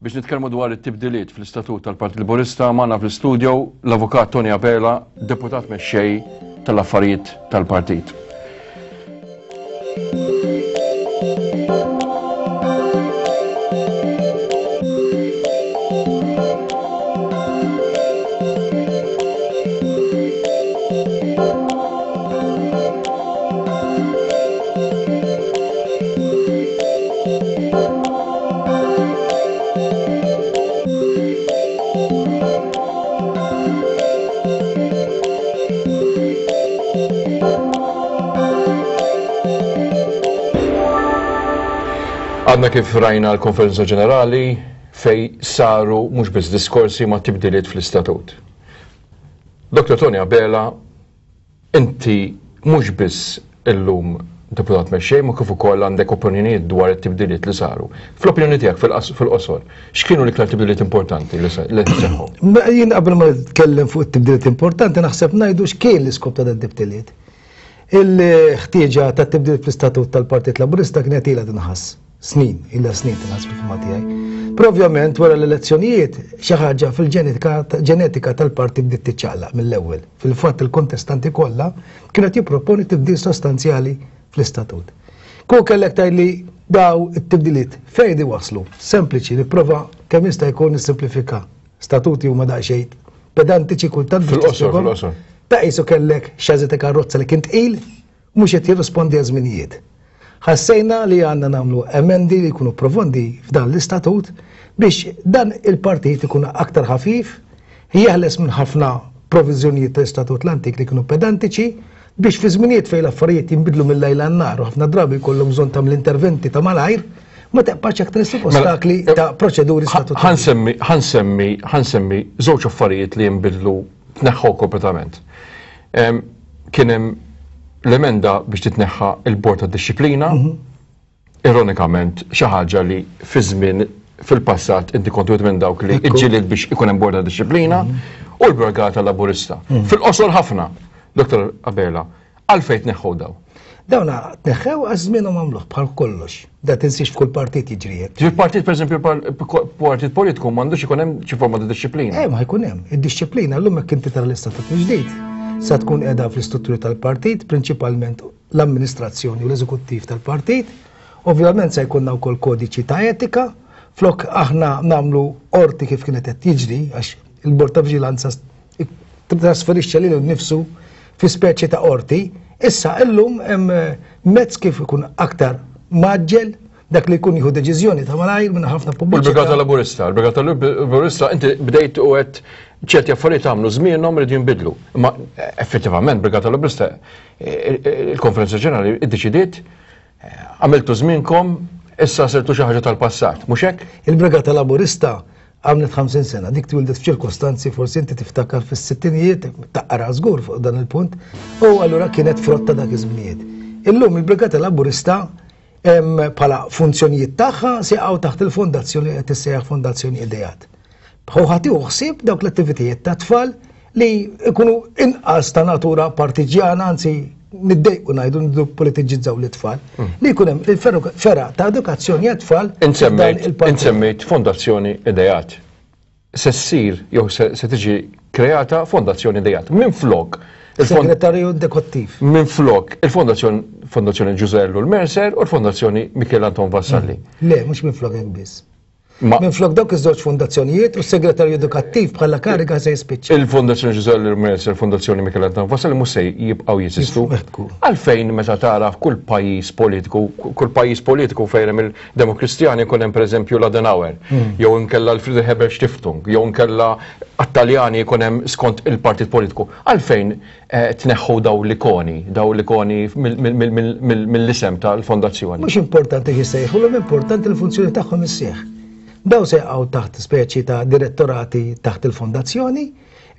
Biex nitkellmu dwar it-tibdiliet fl-istatut tal-Partit Laburista magħna fl-istudio l-Avukat Tony Abela, Deputat Mexxej tal-Affarijiet tal-Partit. Għadna kif rajna l-konferenza ġenerali fej saru mhux biss diskorsi ma' tibdiliet fl-istatut. Dr. Tony Abela Inti mhux biss illum Deputat Mexxej imma kif ukoll għandek opinjonijiet dwar it-tibdiliet li saru. Fl-opinjoni tiegħek fil-qosor, x'kienu l-iktar tibdiliet importanti li seħħu? Jien qabel ma nitkellem fuq it-tibdiliet importanti naħseb ngħidu x'kien l-iskop ta' dan tibdiliet. Il-ħtieġa ta' tibdil fl-istatut tal-Partit Laburista kienet ilha tinħass. Snin, ilha snin tinħass fil-fehma tiegħi. Però ovvjament wara l-elezzjonijiet xi ħaġa fil-ġenetika tal-partit bdiet tiċċaqlaq mill-ewwel. Fil-fatt il-kontestanti kollha kienu qed jipproponi tibdil sostanzjali fl-istatut. Kieku kellek tgħidli daw it-tibdiliet fejn iwasslu? Sempliċi, nipprova kemm jista' jkun nissimplifika. Statuti huma daqsxejn pedantiċi kultant biex Fil-qosor, fil-qosor. Ta' qisu kellek xażi ta' karozza li kien tqil, mhux qed jirrispondi għaż-żminijiet. Ħassejna li għandna nagħmlu emendi li jkunu profondi f'dan l-istatut biex dan il-partit ikun aktar ħafif, jeħles minn ħafna proviżjonijiet tal-istatut l-antik li kienu pedantiċi biex fi żminijiet fejn l-affarijiet jinbidlu mil-lejl għan-nhar u ħafna drabi jkollok bżonn tagħmel interventi ta' malajr, ma teqpax aktar issib mela, ostakli eh, ta' proċeduri statutorji. Ħansemmi, ħansemmi, ħansemmi żewġ affarijiet li jinbidlu tneħħu kompletament. Kien hemm l-emenda biex titneħħa il-Bord ta' Dixxiplina, mhm. ironikament xi ħaġa li fi żmien fil-passat inti kont wieħed minn dawk li ġġieled biex ikun hemm bord ta' dixxiplina mhm. u l-Brigata Laburista. Mhm. Fil-qosor ħafna, Dr. Abela, għalfejn tneħħu daw? Dawna tneħħew għaż żmienhom għamluh bħal kollox. Da tinsiex f'kull partit jiġri hekk. Ġifieri partit pereżempju partit politiku m'għandux ikun hemm xi forma ta' dixxiplina. Eh ma jkun hemm. Id-dixxiplina llum hekk inti tara l-istatut ġdid sa tkun qiegħda fl-istrutturi tal-partit, prinċipalment l-amministrazzjoni u l-eżekuttiv tal-partit. Ovvjament se jkollna wkoll kodiċi ta' etika, flok aħna nagħmlu qorti kif kienet qed jiġri għax il-Bord ta' Viġilanza trasferixxa lilu nnifsu fi speċi ta' qorti, issa illum hemm eh, mezz kif ikun aktar maġġel dak li jkun jieħu deċiżjoni ta' malajr minn ħafna pubbliċità. Il-Brigata Laburista, il-Brigata Laburista inti bdejt u qed ċerti affarijiet għamlu żmienhom rridu jinbidlu. Imma eh, effettivament Brigata Laburista eh, il-Konferenza Ġenerali iddeċidiet għamiltu żmienkom issa sirtu xi ħaġa tal-passat, mhux hekk? Il-Brigata Laburista Għamlet 50 sena, dik twildet f'ċirkostanzi forsi inti tiftakar fis-sittinijiet, taqra żgur fuq dan il-punt, u allura kienet frott ta' dak iż-żminijiet. Illum il-Brigata Laburista bħala funzjonijiet tagħha se jaqgħu taħt il-fondazzjoni qed tissejjaħ Fondazzjoni Ideat. Hu ħadd ħsieb dawk l-attivitajiet ta' tfal li jkunu inqas ta' natura partiġjana, anzi niddejqu ngħidu niddu politiġizzaw l-tfal, mm. li jkun hemm il-ferra ta' edukazzjoni għat-tfal. Insemmejt fondazzjoni Ideat. Se ssir jew se tiġi kreata fondazzjoni Ideat. Minn flok Il-Segretarju Dekottiv. Minn flok il-Fondazzjoni Fondazzjoni Ġużellu l-Mercer u l-Fondazzjoni Michel Anton Vassalli. Mm. Le, mhux minn flok hekk biss. Minflok dawk iż-żewġ fondazzjonijiet u s-segretarju edukattiv bħala kariga se jispiċċa. Il-Fondazzjoni Ġużè Lermers e l-Fondazzjoni Michel Anton Vassalli mhux se jibqgħu jeżistu. Għalfejn meta tara f'kull pajjiż politiku, kull pajjiż politiku fejn hemm il-Demokristjani jkun hemm pereżempju l-Adenauer, hmm. jew inkella l-Friedrich Ebert Stiftung, jew inkella għat-Taljani jkun hemm skont il-partit politiku. Għalfejn Eh, tneħħu daw l-ikoni, daw l-ikoni mill-isem tal-fondazzjoni. Mhux importanti x'issejħu, l importanti l-funzjoni tagħhom issieħ. Daw se jaqgħu taħt speċi ta' direttorati taħt il-fondazzjoni,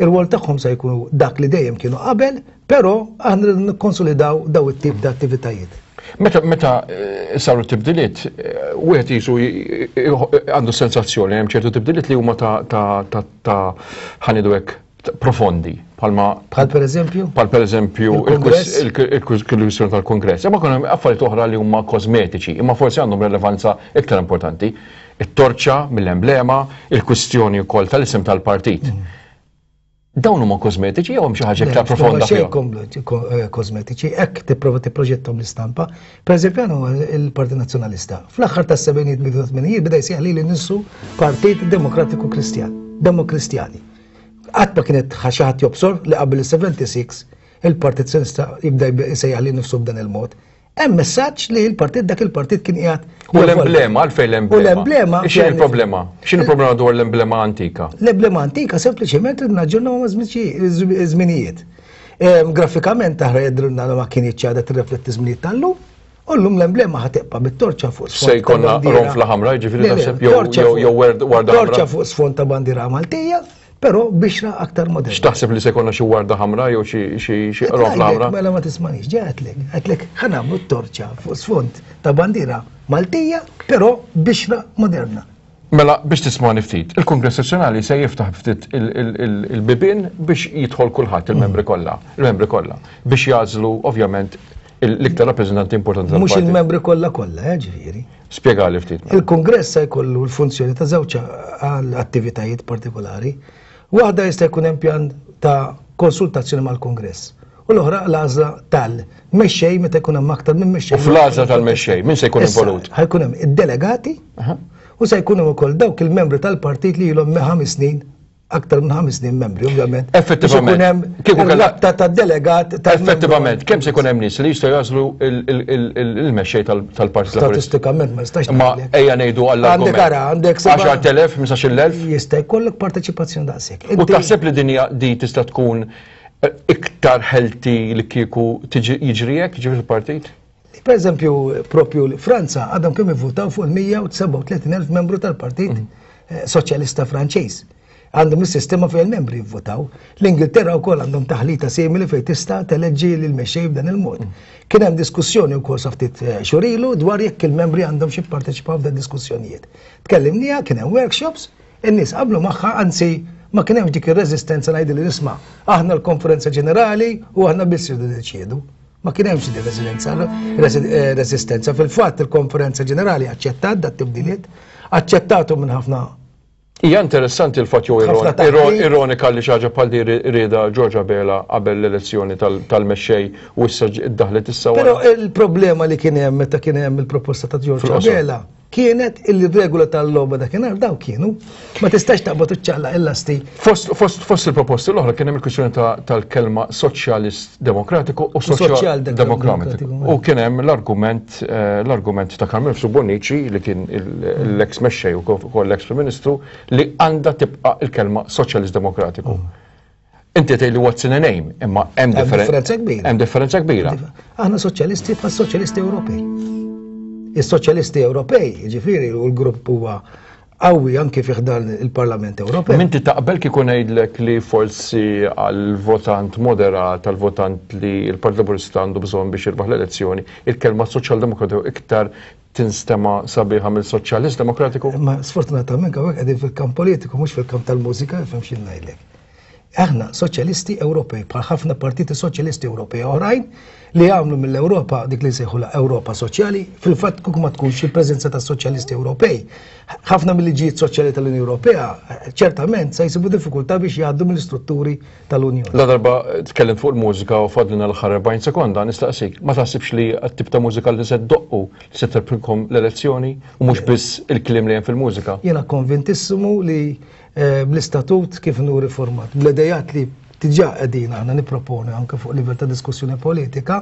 ir-rwol tagħhom se jkunu dak li dejjem kienu qabel, però aħna nikkonsolidaw daw it-tip ta' attivitajiet. Meta meta eh, saru tibdiliet, eh, wieħed jisu għandu sensazzjoni hemm ċertu tibdiliet li huma ta' ta' ta' ħanidu hekk profondi bħalma Bħal per eżempju? Bħal per eżempju il-kwistjoni tal-Kongress. Imma kien hemm affarijiet oħra li huma kosmetiċi, imma forsi għandhom relevanza iktar importanti. It-torċa mill-emblema, il-kwistjoni wkoll tal-isem tal-partit. Dawn huma kosmetiċi jew hemm xi ħaġa iktar profonda fihom? Eh, kosmetiċi, hekk tipprova tipproġettom l-istampa. Pereżempju għandu il-Partit Nazzjonalista. Fl-aħħar tas-sebgħinijiet bidu tmenijiet beda jsejjaħ lili nnifsu Partit Demokratiku Kristjan, Demokristjani. Qatt ma kienet xi ħadd jobsor li qabel is-76 il-Partit Nazzjonalista jibda jsejjaħ lil nifsu b'dan il-mod. Hemm messaġġ li l-partit dak il-partit kien qiegħed. U l-emblema għalfejn l-emblema. U l-emblema. X'inhi l-problema? X'inhi l-problema dwar l-emblema antika? L-emblema antika sempliċement rid naġġornaw ma' żminijiet. Grafikament aħra jidrilna li ma kienx ċada tirrefletti żminijiet tal-lum. U llum l-emblema ħa tibqa' bit-torċa fuq sfond. Se jkollna ronfla ħamra, jiġifieri taħseb jew warda ħamra. Torċa fuq sfond ta' bandiera Maltija. Però bixra aktar moderna. X'taħseb li se jkollna xi warda ħamra jew xi qrofla ħamra? Mela ma tismanix, ġej għedtlek, għedtlek ħa nagħmlu t-torċa fuq sfond ta' bandiera Maltija, però bixra moderna. Mela biex tismani ftit, il-Kungress Nazzjonali se jiftaħ ftit il-bibien biex jidħol kulħadd il-membri mm. kollha, il-membri kollha, biex jagħżlu ovvjament l-iktar rappreżentanti importanti tal Mhux il-membri kollha kollha, eh, ġifieri. Spjegali ftit. Mela. Il-Kungress se jkollu l-funzjoni ta' żewġ attivitajiet partikolari. Waħda jista' jkun hemm pjan ta' konsultazzjoni mal-Kungress u l-oħra l-għażla tal-mexxej meta jkun hemm aktar minn mexxej. U fl-għażla tal-mexxej, min se jkun involut? Ħajkun hemm id-delegati u se jkun hemm ukoll dawk il-membri tal-partit li ilhom ħames snin aktar minn ħames snin membri, ovvjament. Effettivament. Kieku hemm rabta ta' delegat ta' Effettivament, kemm se jkun hemm nies li jistgħu jagħżlu il-mexxej tal-Partit Laburista? Statistikament ma jistax. Ma ejja ngħidu għall Għandek ara, għandek 10,000, 15,000. Jista' jkollok parteċipazzjoni daqshekk. U taħseb li din di tista' tkun eh, iktar healthy li kieku jiġri hekk, jiġri fil-partit? Per eżempju, propju Franza għadhom kemm ivvutaw fuq il-137,000 membru tal-Partit mm. eh, Soċjalista Franċiż. Għandhom is-sistema fejn il-membri jivvotaw. L-Ingilterra wkoll għandhom taħlita simili fejn tista' teleġġi lil mexxej b'dan il-mod. Mm. Kien hemm diskussjoni wkoll sa ftit eh, xurilu dwar jekk il-membri għandhom xi jipparteċipaw f'dan diskussjonijiet. Tkellimniha, kien hemm workshops, in-nies qablu magħha, anzi ma kien hemmx dik ir-reżistenza ngħidu li nisma' aħna l-konferenza ġenerali u aħna biss irridu niddeċiedu. Ma kien hemmx din residenza, eh, resistenza. Fil-fatt il-Konferenza Ġenerali aċċettat dat tibdiliet, aċċettatu minn ħafna Hija interessanti l-fatt jew ironika li xi ħaġa bħal di rieda George Abela qabel l-elezzjoni tal-mexxej u issa ddaħlet issa Però il-problema li kien hemm meta kien hemm il-proposta ta' George Abela kienet illi regola tal-logħba dakinhar daw kienu. Ma tistax taqbad u ċċaqlaq il-lasti. Fost, fost, fost il-proposti l-oħra kien hemm il-kwistjoni tal-kelma soċjalist demokratiku u soċjal demokratiku. U kien hemm l-argument eh, l-argument ta' Carmel Bonnici li kien l-ex mexxej u kol l-ex Prim Ministru li għandha tibqa' il-kelma soċjalist demokratiku. Mm. Inti tgħid li what's in a name, imma hemm differenza kbira. Hemm differenza kbira. Aħna soċjalisti bħal soċjalisti Ewropej. Is-soċjalisti Ewropej, ġifieri, u l-grupp huwa qawwi anke fih dan il-Parlament Ewropew. Minti taqbel kieku ngħidlek li forsi għal-votant moderat, għal-votant li l-Partit Laburista għandu bżonn biex jirbaħ l-elezzjoni, il-kelma soċjaldemokratiku iktar tinstema sabiħa mill-Soċjalist Demokratiku? Ma sfortunatament hawnhekk qegħdin fil-kamp politiku mhux fil-kamp tal-mużika, fhem xi ngħidlek. Aħna soċjalisti Ewropej bħal ħafna partiti soċjalisti Ewropej oħrajn li għamlu mill-Ewropa dik li nsejħula Ewropa Soċjali, fil-fatt kieku ma tkunx il-preżenza ta' soċjalisti Ewropej. Ħafna mill-liġijiet soċjali tal-Unjoni Ewropea ċertament se jsibu diffikultà biex jgħaddu mill-istrutturi tal-Unjoni. La darba tkellimt fuq il-mużika u fadlina l-aħħar 40 sekonda, nistaqsik, ma taħsibx li t-tip ta' mużika li se ddoqqu li se terbħilkom l-elezzjoni u mhux biss il-kliem li hemm fil-mużika? Jiena konvintissimu li eh, bl-istatut kif inhu riformat, bl-idejat li diġà qegħdin aħna nipproponu anke fuq livell ta' diskussjoni politika,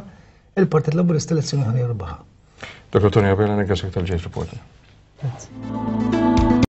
il-Partit Laburista elezzjoni ħan jirbaħha. Dr. Tony Abela, nirringrazzjak tal-ġejt reporter. Grazie.